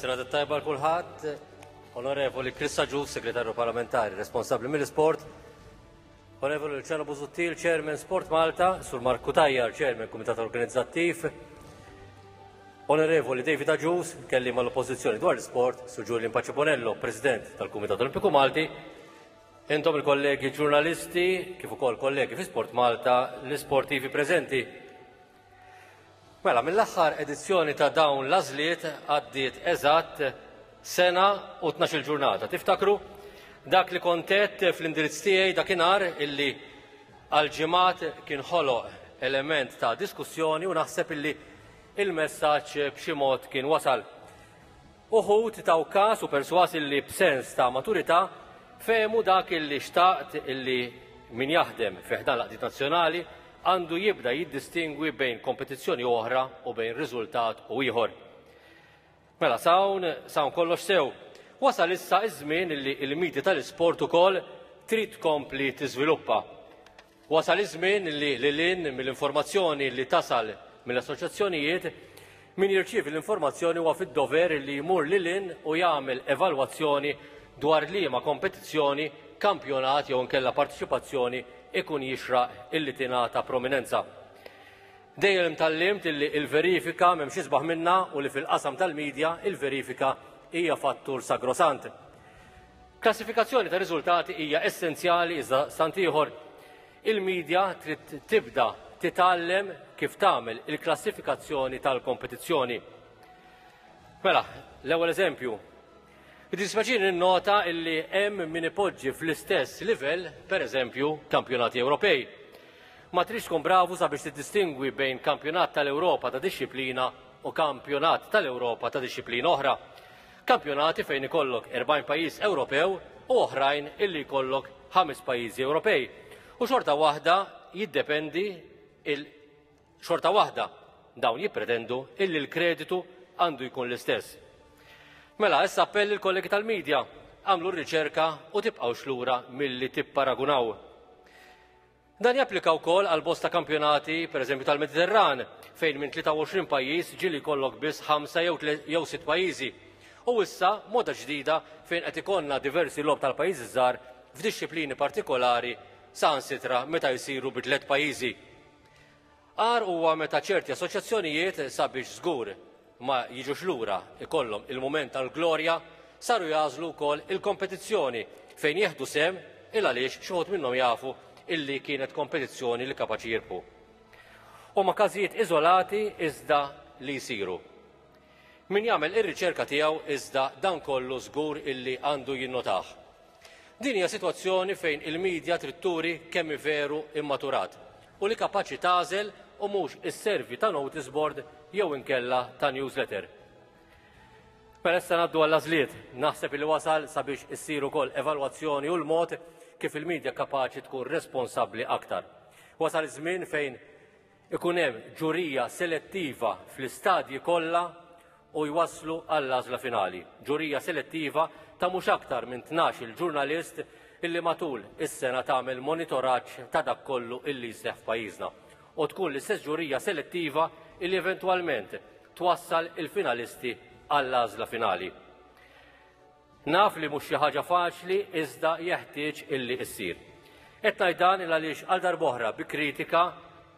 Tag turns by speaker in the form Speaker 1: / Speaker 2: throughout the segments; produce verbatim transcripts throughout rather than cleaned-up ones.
Speaker 1: Serata tajba lil kulħadd. Onorevoli Chris Agius, Segretarju Parlamentari responsabbli mill-Isport. Onorevoli Luciano Busuttil, Chairman Sport Malta, Sur Mark Cutajar, Chairman Kumitat Organizzattiv. Onorevoli David Agius, kelliem għall-Oppożizzjoni dwar l-Sport, Sur Julian Pace Bonello, President tal-Kumitat Olimpiku Malti. Intom il-kollegi ġurnalisti, kif ukoll kollegi fi Sport Malta, l-isportivi preżenti. Mela, mill-aħħar edizzjoni ta' dawn l-għażliet għaddiet eżatt sena u tnax-il ġurnata. Tiftakru dak li kont għedt fl-indirizz tiegħi dakinhar illi għal ġimgħat kien ħoloq element ta' diskussjoni u naħseb illi il-messaġġ b'xi mod kien wasal. Uħud taw kas u perswas illi b'sens ta' maturità fehmu dak illi xtaqt, illi min jaħdem fi ħdan l-għaqdiet nazzjonali għandu jibda jiddistingwi bejn kompetizzjoni oħra u bejn riżultat u ieħor. Mela, s'hawn, s'hawn kollox sew. Wasal issa iż-żmien illi il-medja tal-isport ukoll trid tkompli tiżviluppa. Wasal iż-żmien li lil hinn mill-informazzjoni li tasal mill-assoċjazzjonijiet, min jirċievi l-informazzjoni huwa fid-dover li jmur lil hinn u jagħmel evalwazzjoni dwar liema kompetizzjoni, kampjonat jew inkella partiċipazzjoni ikun jixraq illi tingħata prominenza. Dejjem tgħallimt illi il-verifika m'hemmx isbaħ minna u li fil-qasam tal-medja il-verifika hija fattur sagrosant. Klassifikazzjoni ta' riżultati hija essenzjali, iżda sant ieħor il-medja trid tibda titgħallem kif tagħmel il-klassifikazzjoni tal-kompetizzjoni. Mela, l-ewwel eżempju. Jiddispjaċini nota illi hemm min ipoġġi fl-istess livell, per eżempju, kampjonati Ewropej. Ma tridx tkun bravu sabiex tiddistingwi bejn kampjonat tal-Ewropa ta' dixxiplina u kampjonat tal-Ewropa ta' dixxiplina oħra. Kampjonati fejn ikollok erbgħin pajjiż Ewropew u oħrajn illi jkollok ħames pajjiżi Ewropej. U xorta waħda jiddependi il xorta waħda dawn jippretendu illi l-kreditu għandu jkun l-istess. Mela, issa appell il-kollegi tal-medja, għamlu r-riċerka u tibqgħux lura milli tipparagunaw. Dan japplika wkoll għal bosta kampjonati, pereżempju tal-Mediterran, fejn minn tlieta u għoxrin pajjiż ġieli jkollok biss ħamsa jew jew sitt pajjiżi. U issa moda ġdida fejn qed ikollna diversi logħob tal-pajjiżi żgħar f'dixxiplini partikolari, saħansitra meta jsiru bi tliet pajjiżi. Agħar huwa meta ċerti assoċjazzjonijiet, sabiex żgur ma jiġux lura ikollhom il-mument tal-glorja, saru jagħżlu wkoll il-kompetizzjoni fejn jieħdu sehem, il għaliex xi wħud minnhom jafu illi kienet kompetizzjoni li kapaċi jirbħu. Huma każijiet iżolati iżda li jsiru. Min jagħmel ir-riċerka tiegħu iżda dan kollu żgur illi għandu jinnotah. Din hija sitwazzjoni fejn il-medja trid turi kemm veru immaturat u li kapaċi tagħżel u mhux isservi ta' notice board jew inkella ta' newsletter. Mela issa ngħaddu għall-għażliet. Naħseb li wasal sabiex issir ukoll evalwazzjoni u l-mod kif il-medja kapaċi tkun responsabbli aktar. Wasal iż-żmien fejn ikun hemm ġurija selettiva fl-istadji kollha u jwaslu għall-għażla finali. Ġurija selettiva ta' mhux aktar minn tnax il-ġurnalist illi matul is-sena tagħmel monitoraġġ ta' dak kollu illi jseħħ f'pajjiżna. U tkun l-istess ġurija selettiva illi eventwalment twassal il-finalisti għall-għażla finali. Naf li mhux xi ħaġa faċli, iżda jeħtieġ illi issir. Qed ngħid dan il għaliex għal darb'oħra bi kritika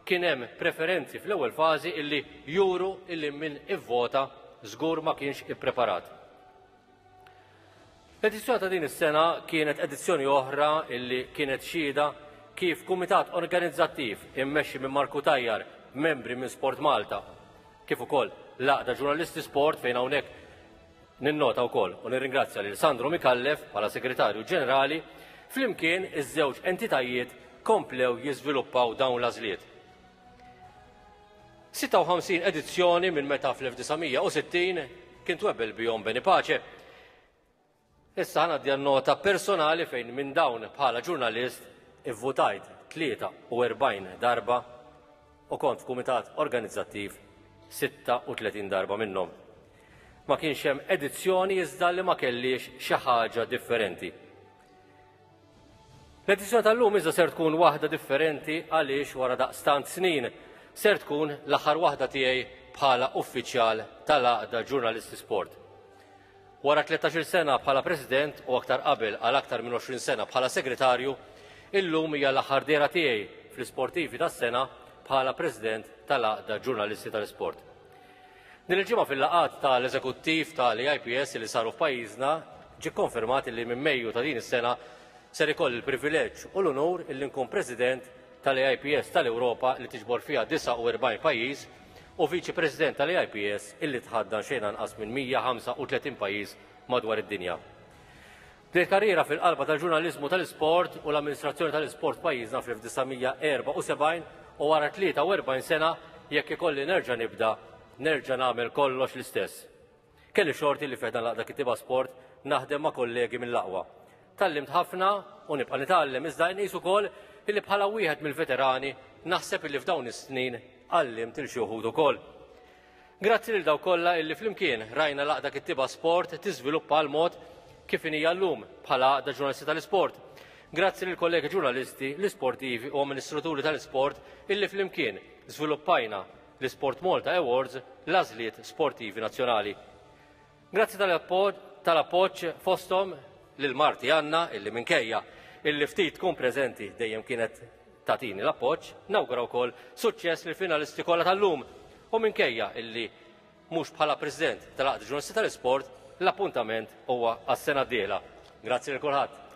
Speaker 1: kien hemm preferenzi fl-ewwel fażi illi juru illi min ivvota żgur ma kienx ippreparat. L-edizzjoni ta' din is-sena kienet edizzjoni oħra illi kienet xhieda kif kumitat organizzattiv immexxi minn Mark Cutajar, membri minn Sport Malta, kif ukoll l-Għaqda Ġurnalisti Sport, fejn hawnhekk ninnota wkoll u nirringrazzja lil Sandro Micallef bħala Segretarju Ġenerali, flimkien iż-żewġ entitajiet komplew jiżviluppaw dawn l-għażliet. sitta u ħamsin edizzjoni minn meta fl-elf disa' mija u sittin kien twebbel bihom Benny Pace. Issa ħa nota personali fejn minn dawn bħala ġurnalist ivvutajt tlieta u erbgħin darba u kont f'kumitat organizzattiv sitta u tletin darba minnhom. Ma kienx hemm edizzjoni iżda li ma kellix xi ħaġa differenti. L-edizzjoni tal-lum iżda ser tkun waħda differenti, għaliex wara daqstant snin ser tkun l-aħħar waħda tiegħi bħala uffiċjal tal-Għaqda Ġurnalisti Sport. Wara tlettax-il sena bħala President u aktar qabel għal aktar minn għoxrin sena bħala Segretarju, illum hija l-aħħar dehra tiegħi fl-Isportivi tas-sena bħala President tal-Għaqda Ġurnalisti tal-Isport. Din il-ġimgħa fil-laqgħat tal-Eżekuttiv tal-A I P S li saru f'pajjiżna ġie konfermat li minn Mejju ta' din is-sena ser ikolli l-privileġġ u l-unur illi nkun President tal-A I P S tal-Ewropa, li tiġbor fiha disgħa u erbgħin pajjiż, u Viċi President tal-A I P S, illi tħaddan xejn anqas minn mija u ħamsa u tletin pajjiż madwar id-dinja. Bdejt karriera fil-qalba tal-ġurnaliżmu tal-isport u l-amministrazzjoni tal-isport pajjiżna fl-elf disa' mija erbgħa u sebgħin u wara tlieta u erbgħin sena, jekk ikolli nerġa' nibda, nerġa' nagħmel kollox l-istess. Kelli xorti li fi ħdan l-Għaqda Kittieba Sport naħdem ma' kollegi mill-aqwa. Tgħallimt ħafna u nibqa' nitgħallem, iżda nqis ukoll illi bħala wieħed mill-veterani naħseb illi f'dawn is-snin għallimt lil xi wħud ukoll. Grazzi lil dawk kollha illi flimkien rajna l-Għaqda Kittieba Sport tiżviluppa għal mod kif inhija llum bħala Għaqda Ġurnalisti tal-Isport. Grazzi lil kollegi ġurnalisti, l-isportivi u amministraturi tal-isport illi flimkien żviluppajna l-Sport Malta Awards, l-għażliet sportivi nazzjonali. Grazzi tal-appoġġ, fosthom lil marti Anna, illi minkejja illi ftit tkun preżenti dejjem kienet tagħtini l-appoġġ. Nawgura wkoll suċċess lil finalisti kollha tal-lum u, minkejja illi mhux bħala President tal-Għaqda Ġurnalisti tal-Isport, l-appuntament huwa għas-sena d-dieħla. Grazzi lil kulħadd.